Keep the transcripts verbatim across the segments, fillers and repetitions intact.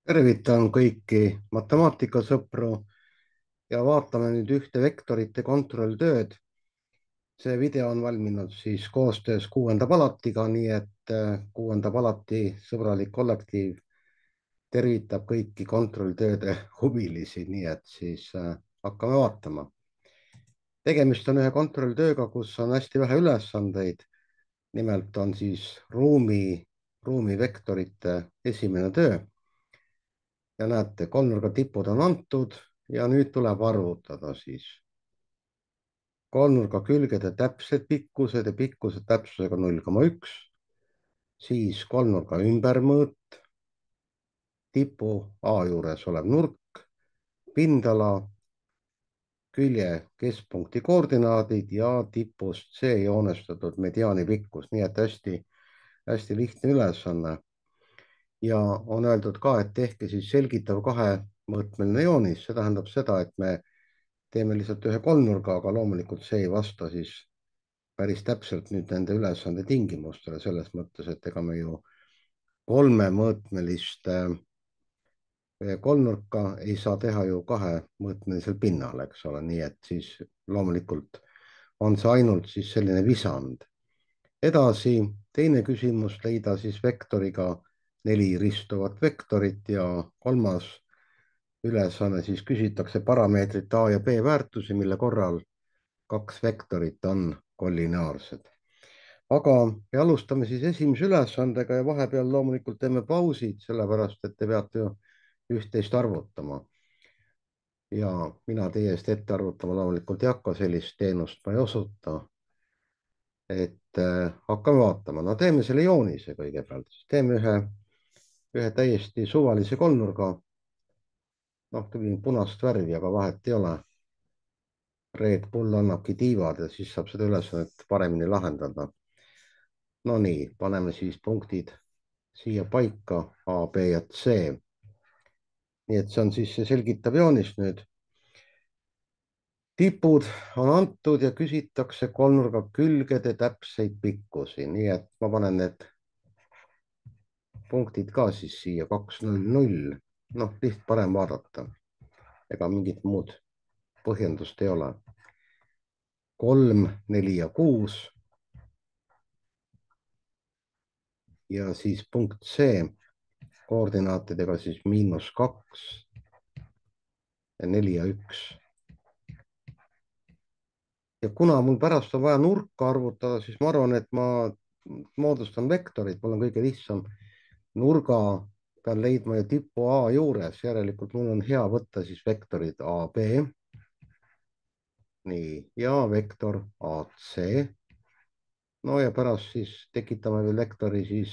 Tervitan kõiki matemaatikasõpru ja vaatame nüüd ühte vektorite kontrolltööd. See video on valminud siis koostöös kuuenda palatiga, nii et äh, kuuenda palati sõbralik kollektiiv tervitab kõiki kontrolltööde huvilisi, nii et siis äh, hakkame vaatama. Tegemist on ühe kontrolltööga, kus on hästi vähe ülesandeid. Nimelt on siis ruumi, ruumivektorite esimene töö. Ja näete, kolmnurga tipud on antud ja nüüd tuleb arvutada siis kolmnurga külgede täpsed pikkused ja pikkused täpsusega null koma üks, siis kolmnurga ümbermõõt, tipu A juures olev nurk, pindala, külje keskpunkti koordinaadid ja tipust C joonestatud mediaani pikkus, nii et hästi, hästi lihtne ülesanne. Ja on öeldud ka, et tehke siis selgitav kahemõõtmeline joonis, see tähendab seda, et me teeme lihtsalt ühe kolmnurga, aga loomulikult see ei vasta siis päris täpselt nüüd nende ülesande tingimustele selles mõttes, et ega me ju kolmemõõtmelist kolmnurka ei saa teha ju kahemõõtmelisel pinnal, eks ole, nii et siis loomulikult on see ainult siis selline visand. Edasi teine küsimus, leida siis vektoriga neli ristuvat vektorit ja kolmas ülesanne siis küsitakse parameetrit A ja B väärtusi, mille korral kaks vektorit on kollineaarsed. Aga me alustame siis esimese ülesandega ja vahepeal loomulikult teeme pausid, sellepärast et te peate ju üht-teist arvutama. Ja mina teie eest ette arvutama loomulikult ei hakka, sellist teenust ma ei osuta. Et äh, hakkame vaatama, no teeme selle joonise kõigepealt, siis teeme ühe, ühe täiesti suvalise kolmnurga. Noh, tegin punast värvi, aga vahet ei ole. Red Bull annabki tiivad ja siis saab seda ülesannet paremini lahendada. No nii, paneme siis punktid siia paika, A, B ja C. Nii et see on siis see selgitav joonis nüüd. Tipud on antud ja küsitakse kolmnurga külgede täpseid pikkusi, nii et ma panen need punktid ka siis siia kaks null null. Noh, liht parem vaadata. Ega mingit muud põhjendust ei ole. kolm, neli ja kuus. Ja siis punkt C koordinaatidega siis miinus kaks ja neli ja üks. Ja kuna mul pärast on vaja nurka arvutada, siis ma arvan, et ma moodustan vektorit, mul on kõige lihtsam. Nurga pean leidma ju tipu A juures, järelikult mul on hea võtta siis vektorid A B. Nii, ja vektor A C. No ja pärast siis tekitame veel vektori siis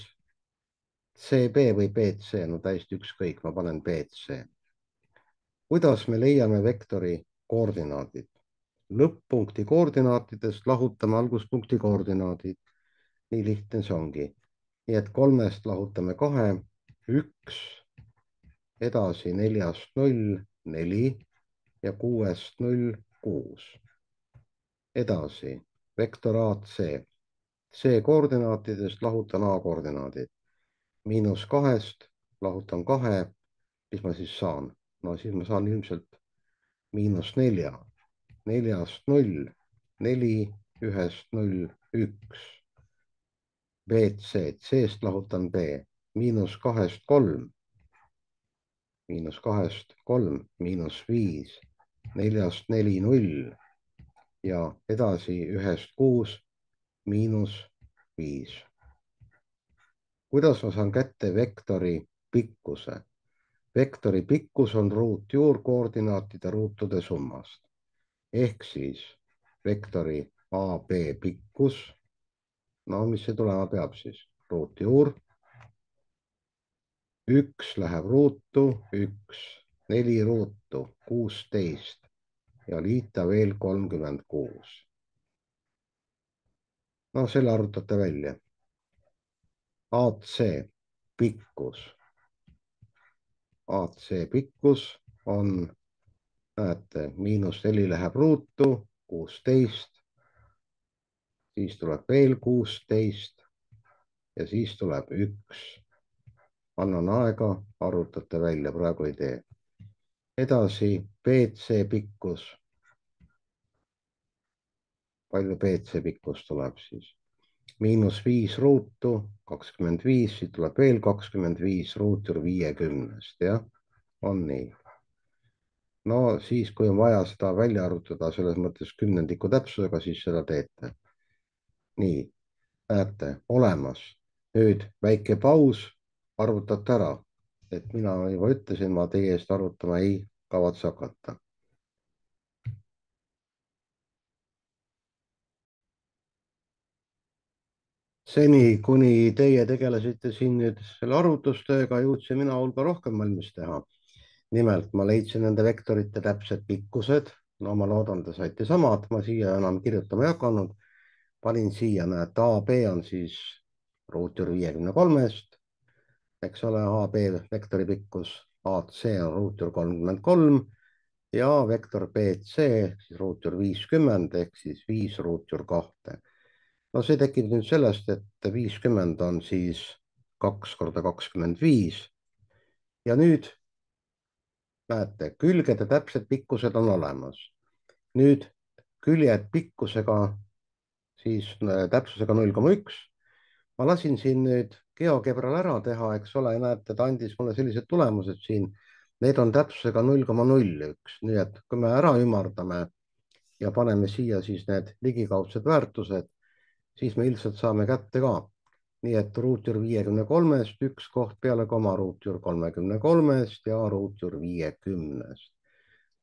C B või B C, no täiesti ükskõik, ma panen B C. Kuidas me leiame vektori koordinaadid? Lõpp-punkti koordinaatidest lahutame alguspunkti koordinaadid. Nii lihtne see ongi. Nii et kolmest lahutame kahe, üks, edasi neljast null, neli ja kuuest null, kuus. Edasi vektor A C. C koordinaatidest lahutan A koordinaadid. Miinus kahest lahutan kahe. Mis ma siis saan? No siis ma saan ilmselt miinus nelja. Neljast null, neli, ühest null, üks. B C, C-st lahutan B, miinus kahest kolm, miinus kahest kolm, miinus viis, neljast neli, null ja edasi ühest kuus, miinus viis. Kuidas ma saan kätte vektori pikkuse? Vektori pikkus on ruutjuurkoordinaatide ruutude summast. Ehk siis vektori A B pikkus, no mis see tulema peab siis? Ruutjuur. Üks läheb ruutu, üks, neli ruutu, kuusteist ja liita veel kolmkümmend kuus. No selle arvutate välja. A C pikkus. A C pikkus on, näete, miinus neli läheb ruutu, kuusteist, siis tuleb veel kuusteist ja siis tuleb üks. annan aega, arvutate välja, praegu ei tee. edasi B C pikkus. palju B C pikkus tuleb siis? miinus viis ruutu, kakskümmend viis, siit tuleb veel kakskümmend viis ruutur viiekümnest, jah, on nii. no siis, kui on vaja seda välja arvutada selles mõttes kümnendiku täpsusega, siis seda teete. nii, näete, olemas. nüüd väike paus, arvutate ära, et mina juba ütlesin, ma teie eest arvutama ei kavatse hakata. seni, kuni teie tegelesite siin nüüd selle arvutustööga, jõudsin mina hulga rohkem valmis teha. nimelt ma leidsin nende vektorite täpsed pikkused. no ma loodan, te saite samad, ma siia enam kirjutama ei hakanud. panin siia, näete, A B on siis ruutur viiekümne kolmest, eks ole, A B vektori pikkus, A C on ruutur kolmkümmend kolm ja vektor B C siis ruutur viiskümmend ehk siis viis ruutur kahte. no see tekib nüüd sellest, et viiskümmend on siis kaks korda kakskümmend viis ja nüüd näete, külgede täpsed pikkused on olemas. nüüd küljed pikkusega siis äh, täpsusega null koma üks. ma lasin siin nüüd GeoGebral ära teha, eks ole, näete, ta andis mulle sellised tulemused siin. Need on täpsusega null koma null üks, nii et kui me ära ümardame ja paneme siia siis need ligikaudsed väärtused, siis me ilmselt saame kätte ka. nii et ruutur viiekümne kolmest üks koht peale koma ruutur kolmekümne kolmest ja ruutur viiekümnest.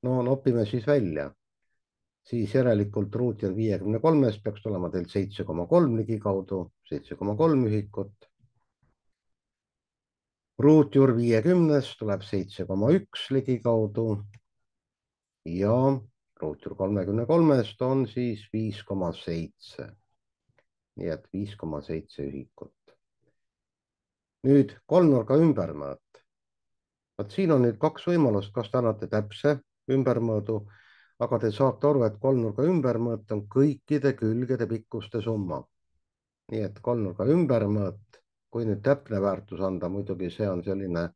no nopime siis välja. siis järelikult ruutur viiekümne kolmest peaks tulema teil seitse koma kolm ligikaudu, seitse koma kolm ühikut. ruutur viiekümnest tuleb seitse koma üks ligikaudu ja ruutur kolmekümne kolmest on siis viis koma seitse. nii et viis koma seitse ühikut. nüüd kolmnurga ümbermõõt. vot siin on nüüd kaks võimalust, kas te annate täpse ümbermõõdu, aga te saate aru, et kolmnurga ümbermõõt on kõikide külgede pikkuste summa. nii et kolmnurga ümbermõõt, kui nüüd täpne väärtus anda, muidugi see on selline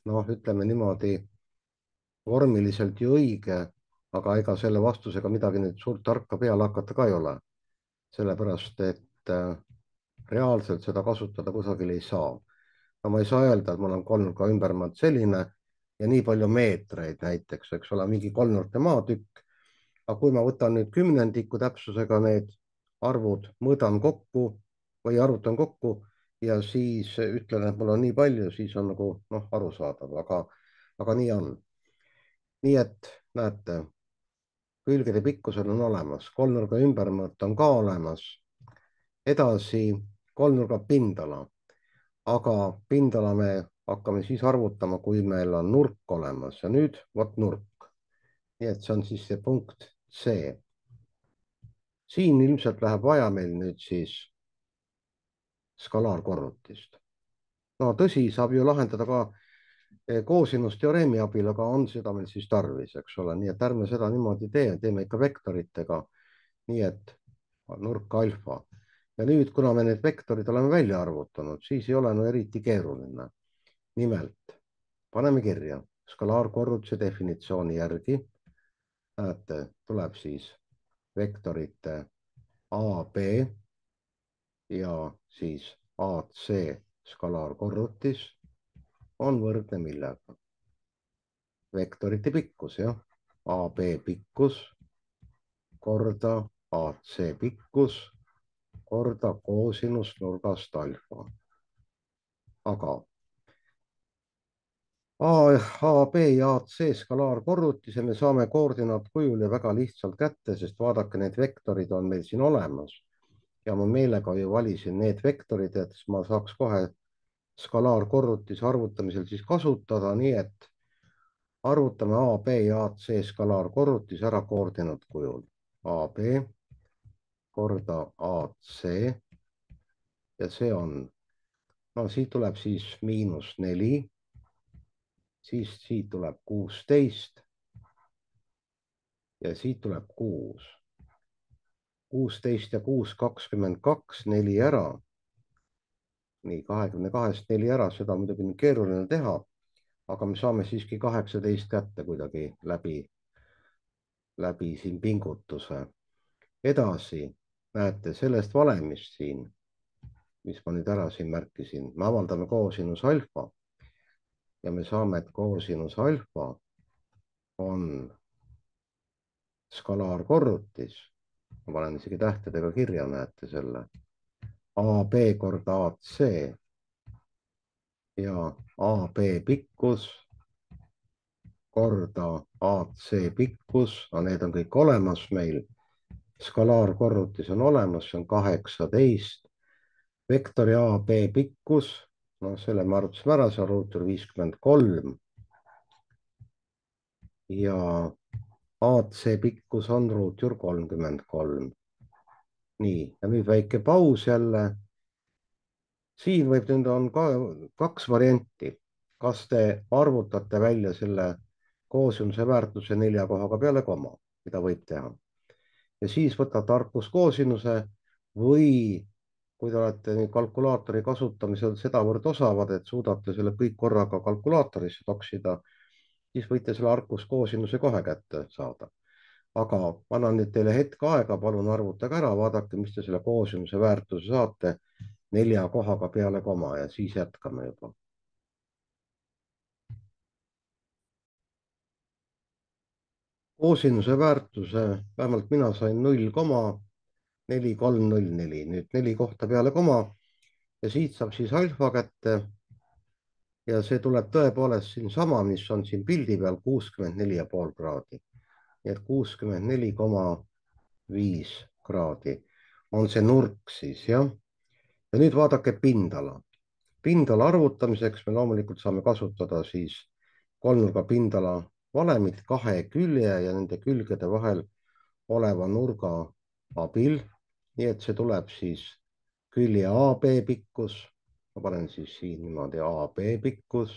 noh, ütleme niimoodi vormiliselt ju õige, aga ega selle vastusega midagi nüüd suurt tarka peale hakata ka ei ole. sellepärast, et reaalselt seda kasutada kusagil ei saa. no ma ei saa öelda, et mul on kolmnurga ümbermõõt selline ja nii palju meetreid näiteks, eks ole, mingi kolmnurkne maatükk. aga kui ma võtan nüüd kümnendiku täpsusega need arvud, mõõdan kokku või arvutan kokku ja siis ütlen, et mul on nii palju, siis on nagu noh, arusaadav, aga, aga nii on. nii et näete, külgede pikkused on olemas, kolmnurga ümbermõõt on ka olemas. edasi kolmnurga pindala, aga pindala me hakkame siis arvutama, kui meil on nurk olemas ja nüüd vot nurk. nii et see on siis see punkt C. siin ilmselt läheb vaja meil nüüd siis skalaarkorrutist. no tõsi, saab ju lahendada ka koosinusteoreemi abil, aga on seda meil siis tarvis, eks ole, nii et ärme seda niimoodi tee, teeme ikka vektoritega. nii et nurk alfa ja nüüd, kuna me need vektorid oleme välja arvutanud, siis ei ole no eriti keeruline. nimelt paneme kirja skalaarkorrutuse definitsiooni järgi. näete, tuleb siis vektorite A B ja siis A C skalaarkorrutis on võrdne millega? vektorite pikkus, jah. A B pikkus korda A C pikkus korda koosinus nurgast alfa. aga A, A, B ja A C skalaarkorrutise me saame koordinaatkujul ja väga lihtsalt kätte, sest vaadake, need vektorid on meil siin olemas. ja ma meelega ju valisin need vektorid, et ma saaks kohe skalaarkorrutise arvutamisel siis kasutada, nii et arvutame A, B ja A C skalaarkorrutis ära koordinaatkujul. A, B korda A, C ja see on, no siit tuleb siis miinus neli, siis siit tuleb kuusteist ja siit tuleb kuus. kuusteist ja kuus, kakskümmend kaks, neli ära. nii, kahekümne kahest neli ära, seda on muidugi keeruline teha, aga me saame siiski kaheksateist kätte kuidagi läbi, läbi siin pingutuse. Edasi, näete sellest valemist siin, mis ma nüüd ära siin märkisin, me avaldame koosinus alfa ja me saame, et koosinus alfa on skalaarkorrutis. Ma panen isegi tähtedega kirja, näete selle. A B korda A C ja A B pikkus korda A C pikkus, no need on kõik olemas meil. Skalaarkorrutis on olemas, see on kaheksateist. Vektori A B pikkus, no selle me arvutasime ära, see on ruutur viiskümmend kolm. ja A C pikkus on ruutur kolmkümmend kolm. nii, ja nüüd väike paus jälle. siin võib nüüd on ka kaks varianti. kas te arvutate välja selle koosinuse väärtuse nelja kohaga peale koma, mida võib teha. ja siis võtate tarkuskoosinuse või kui te olete nüüd kalkulaatori kasutamisel sedavõrd osavad, et suudate selle kõik korraga kalkulaatorisse toksida, siis võite selle arkuskoosinuse kohe kätte saada. aga ma annan nüüd teile hetk aega, palun arvutage ära, vaadake, mis te selle koosinuse väärtuse saate nelja kohaga peale koma ja siis jätkame juba. Koosinuse väärtuse, vähemalt mina sain null koma neli kolm null neli, nüüd neli kohta peale koma ja siit saab siis alfa kätte. ja see tuleb tõepoolest siinsama, mis on siin pildi peal, kuuskümmend neli ja pool kraadi. nii et kuuskümmend neli koma viis kraadi on see nurk siis, jah. ja nüüd vaadake pindala. pindala arvutamiseks me loomulikult saame kasutada siis kolmnurga pindala valemit kahe külje ja nende külgede vahel oleva nurga abil. nii et see tuleb siis külje A B pikkus, ma panen siis siin niimoodi A B pikkus,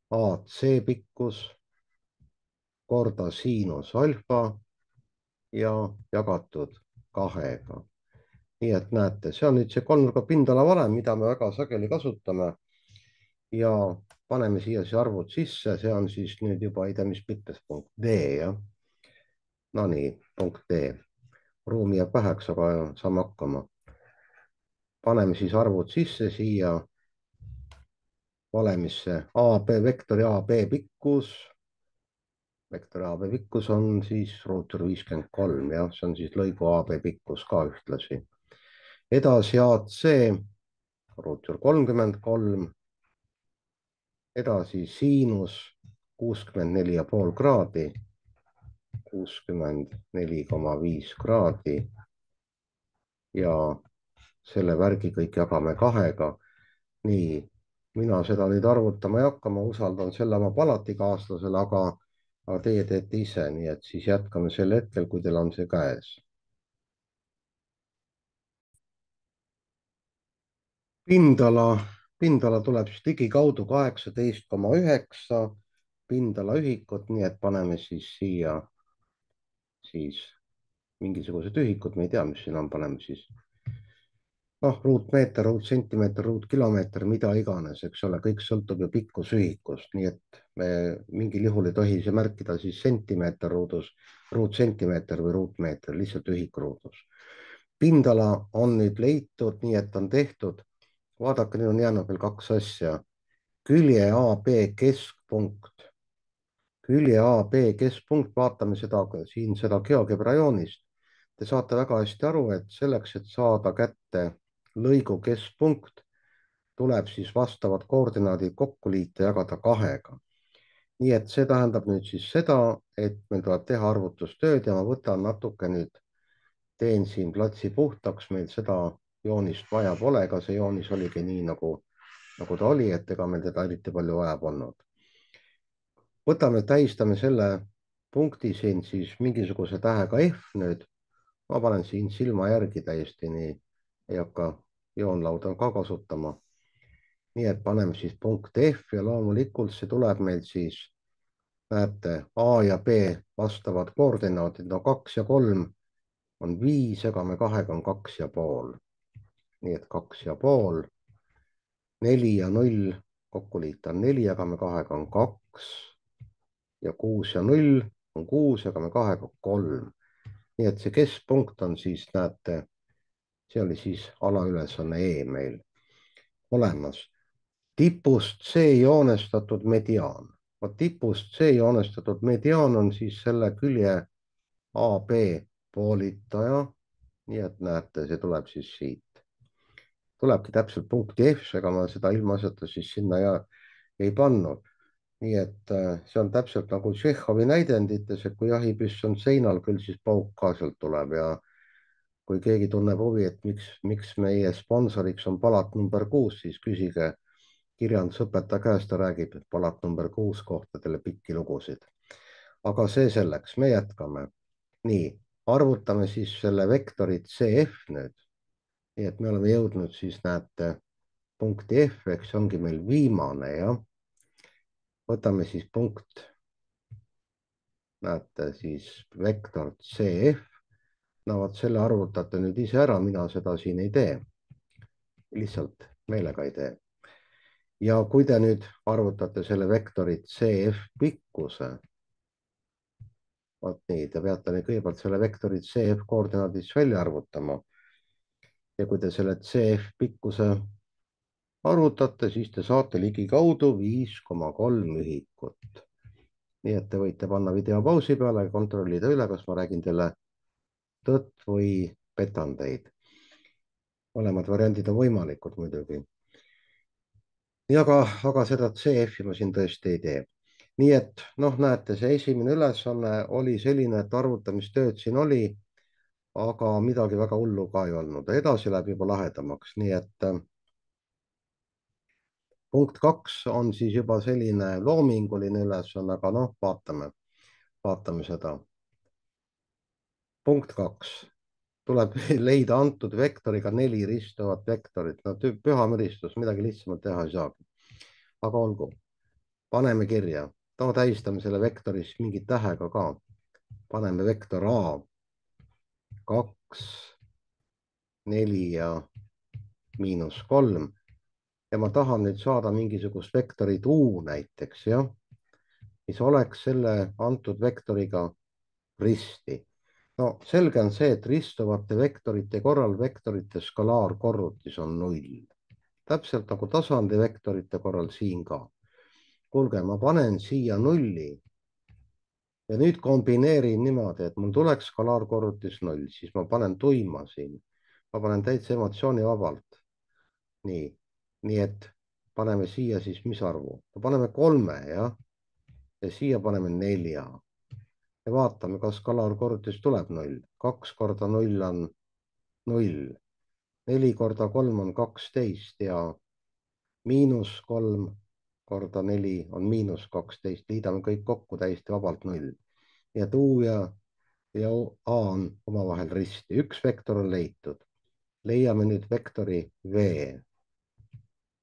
A C pikkus korda siinus alfa ja jagatud kahega. nii et näete, see on nüüd see kolmnurga pindala valem, mida me väga sageli kasutame. ja paneme siia siis arvud sisse, see on siis nüüd juba ei tea, mis mitmes punkt D, jah. no nii, punkt D. ruumi jääb väheks, aga saame hakkama. paneme siis arvud sisse siia valemisse. A B, vektori A B pikkus. vektori A B pikkus on siis ruutur viiskümmend kolm, jah, see on siis lõigu A B pikkus ka ühtlasi. edasi A C, ruutur kolmkümmend kolm. edasi siinus kuuskümmend neli ja pool kraadi, kuuskümmend neli koma viis kraadi ja selle värgi kõik jagame kahega. nii, mina seda nüüd arvutama ei hakka, ma usaldan selle oma palatikaaslasele, aga, aga teie teete ise, nii et siis jätkame sel hetkel, kui teil on see käes. pindala, pindala tuleb siis ligikaudu kaheksateist koma üheksa pindala ühikut, nii et paneme siis siia siis mingisugused ühikud, me ei tea, mis siin on, paneme siis noh, ruutmeeter, ruutsentimeeter, ruutkilomeeter, mida iganes, eks ole, kõik sõltub ju pikkusühikust, nii et me mingil juhul ei tohi see märkida siis sentimeeter ruudus, ruutsentimeeter või ruutmeeter, lihtsalt ühik ruudus. pindala on nüüd leitud, nii et on tehtud. vaadake, nüüd on jäänud veel kaks asja. külje A B keskpunkt, külje A B keskpunkt, vaatame seda siin seda GeoGebra joonist. Te saate väga hästi aru, et selleks, et saada kätte lõigu keskpunkt, tuleb siis vastavad koordinaadid kokku liita ja jagada kahega. nii et see tähendab nüüd siis seda, et meil tuleb teha arvutustööd ja ma võtan natuke nüüd, teen siin platsi puhtaks, meil seda joonist vaja pole, ega see joonis oligi nii, nagu, nagu ta oli, et ega meil teda eriti palju vaja polnud. võtame, tähistame selle punkti siin siis mingisuguse tähega F nüüd. ma panen siin silma järgi täiesti, nii ei hakka joonlauda ka kasutama. nii et paneme siis punkt F ja loomulikult see tuleb meil siis, näete, A ja B vastavad koordinaadid, no kaks ja kolm on viis, jagame kahega on kaks ja pool. nii et kaks ja pool neli ja null kokku liita on neli, jagame kahega on kaks ja kuus ja null on kuus, jagame kahega kolm. nii et see keskpunkt on siis, näete, see oli siis alaülesanne E meil olemas. Tipust C joonestatud mediaan. Tipust C joonestatud mediaan on siis selle külje A B poolitaja. nii et näete, see tuleb siis siit. Tulebki täpselt punkti F, ega ma seda ilmaasjata siis sinna ja ei pannud. nii et see on täpselt nagu Tšehhovi näidendites, et kui jahipüss on seinal, küll siis pauk ka sealt tuleb ja kui keegi tunneb huvi, et miks, miks meie sponsoriks on palat number kuus, siis küsige kirjandusõpetaja käest, ta räägib palat number kuus kohta teile pikki lugusid. aga see selleks, me jätkame. nii, arvutame siis selle vektori C F nüüd. nii et me oleme jõudnud siis, näete, punkti F, eks see ongi meil viimane, jah. võtame siis punkt, näete siis vektor C F. no vot selle arvutate nüüd ise ära, mina seda siin ei tee. lihtsalt meelega ei tee. ja kui te nüüd arvutate selle vektori C F pikkuse, vot nii, te peate nüüd kõigepealt selle vektori C F koordinaadis välja arvutama. ja kui te selle C F pikkuse arvutate, siis te saate ligikaudu viis koma kolm ühikut. nii et te võite panna video pausi peale ja kontrollida üle, kas ma räägin teile tõtt või petan teid. mõlemad variandid on võimalikud muidugi. aga, aga seda C F-i ma siin tõesti ei tee. nii et noh, näete, see esimene ülesanne oli selline, et arvutamistööd siin oli, aga midagi väga hullu ka ei olnud. edasi läheb juba lahedamaks, nii et punkt kaks on siis juba selline loominguline ülesanne, aga noh, vaatame, vaatame seda. punkt kaks. tuleb leida antud vektoriga neli ristuvat vektorit. no püha müristus, midagi lihtsamalt teha ei saagi. aga olgu, paneme kirja. no tähistame selle vektoris mingi tähega ka. paneme vektor A kaks, neli ja miinus kolm. ja ma tahan nüüd saada mingisugust vektorit U näiteks, jah, mis oleks selle antud vektoriga risti. no selge on see, et ristuvate vektorite korral vektorite skalaarkorrutis on null. täpselt nagu tasandi vektorite korral siin ka. kuulge, ma panen siia nulli ja nüüd kombineerin niimoodi, et mul tuleks skalaarkorrutis null, siis ma panen tuima siin. ma panen täitsa emotsioonivabalt. nii, nii et paneme siia siis mis arvu? paneme kolme, jah. ja siia paneme nelja. ja vaatame, kas skalaarkorrutis tuleb null. kaks korda null on null. neli korda kolm on kaksteist ja miinus kolm korda neli on miinus kaksteist. liidame kõik kokku täiesti vabalt null. nii et U ja, ja A on omavahel risti. üks vektor on leitud. leiame nüüd vektori V.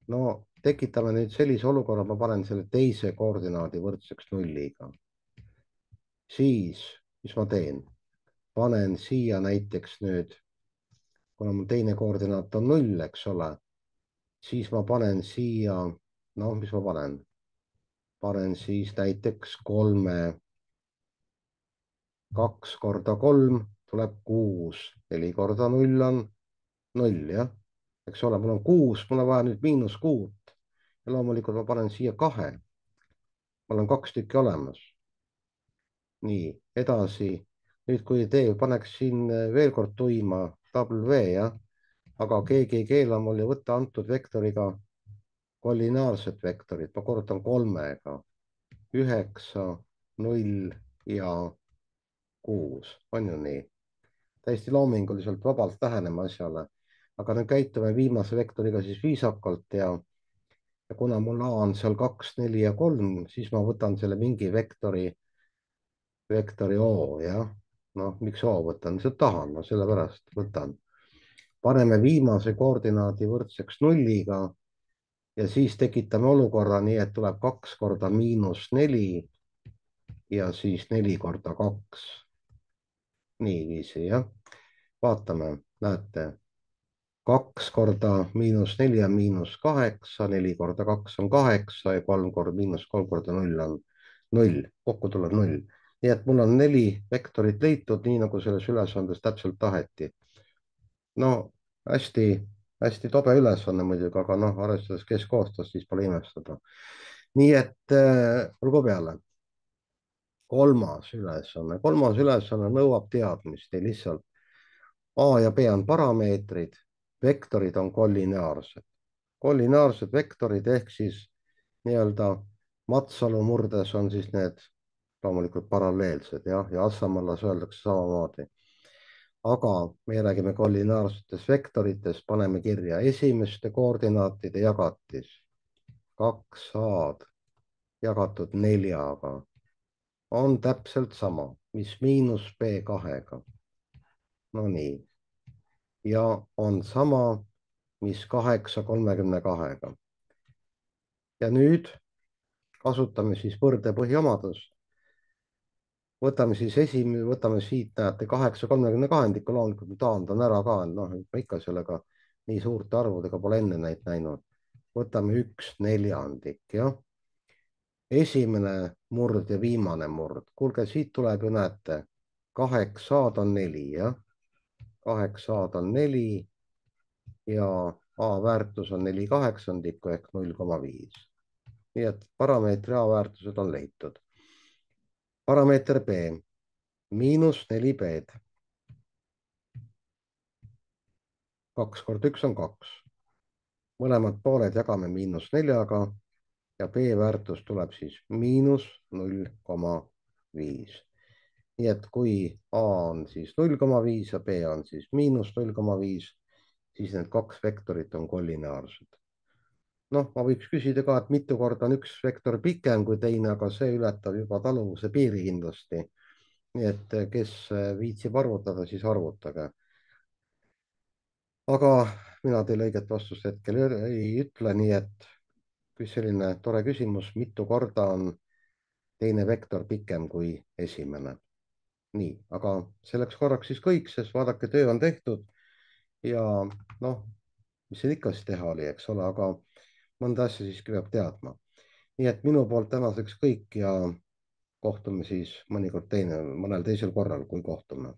no tekitame nüüd sellise olukorra, ma panen selle teise koordinaadi võrdseks nulliga. siis, mis ma teen? panen siia näiteks nüüd, kuna mul teine koordinaat on null, eks ole, siis ma panen siia, noh, mis ma panen? panen siis näiteks kolme, kaks korda kolm tuleb kuus, neli korda null on null, jah. eks ole, mul on kuus, mul on vaja nüüd miinus kuut. ja loomulikult ma panen siia kahe. mul on kaks tükki olemas. nii, edasi. nüüd, kui tee, paneks siin veel kord tuima W, jah. aga keegi ei keela mul ju võtta antud vektoriga kollineaarset vektorit, ma korrutan kolmega. üheksa, null ja kuus, on ju nii? täiesti loominguliselt vabalt läheneme asjale, aga nüüd käitume viimase vektoriga siis viisakalt ja, ja kuna mul A on seal kaks, neli ja kolm, siis ma võtan selle mingi vektori, vektori O, jah. noh, miks O võtan, lihtsalt tahan, no sellepärast võtan. paneme viimase koordinaadi võrdseks nulliga ja siis tekitame olukorra nii, et tuleb kaks korda miinus neli ja siis neli korda kaks. niiviisi, jah. vaatame, näete. kaks korda miinus neli on miinus kaheksa, neli korda kaks on kaheksa ja kolm korda miinus kolm korda null on null, kokku tuleb null. nii et mul on neli vektorit leitud, nii nagu selles ülesandes täpselt taheti. no hästi, hästi tobe ülesanne muidugi, aga noh, arvestades, kes koostas, siis pole imestada. nii et äh, olgu peale. kolmas ülesanne, kolmas ülesanne nõuab teadmist ja lihtsalt A ja B on parameetrid, vektorid on kollineaarsed. kollineaarsed vektorid ehk siis nii-öelda Matsalu murdes on siis need loomulikult paralleelsed jah, ja Assamallas öeldakse samamoodi. aga me räägime kollineaarsetest vektoritest, paneme kirja esimeste koordinaatide jagatis kaks A-d jagatud neljaga on täpselt sama, mis miinus B kahega. Nonii, ja on sama, mis kaheksa kolmekümne kahega. ja nüüd kasutame siis võrdepõhiomadust. võtame siis esimene, võtame siit, näete, kaheksa kolmekümne kahendikku, loomulikult ma taandan ära ka, noh, ma ikka sellega nii suurte arvudega pole enne neid näinud. võtame üks neljandik, jah. esimene murd ja viimane murd. kuulge, siit tuleb ju, näete, kaheksa A-d on neli, jah. kaheksa A-d on neli ja A väärtus on neli kaheksandikku ehk null koma viis. nii et parameetri A väärtused on leitud. parameeter B, miinus neli B-d. kaks korda üks on kaks. mõlemad pooled jagame miinus neljaga ja B väärtus tuleb siis miinus null koma viis. nii et kui A on siis null koma viis ja B on siis miinus null koma viis, siis need kaks vektorit on kollineaarsed. noh, ma võiks küsida ka, et mitu korda on üks vektor pikem kui teine, aga see ületab juba taluvuse piiri kindlasti. nii et kes viitsib arvutada, siis arvutage. aga mina teile õiget vastust hetkel ei ütle, nii et kui selline tore küsimus, mitu korda on teine vektor pikem kui esimene. nii, aga selleks korraks siis kõik, sest vaadake, töö on tehtud ja noh, mis siin ikka siis teha oli, eks ole, aga mõnda asja siiski peab teadma. nii et minu poolt tänaseks kõik ja kohtume siis mõnikord teine, mõnel teisel korral, kui kohtume.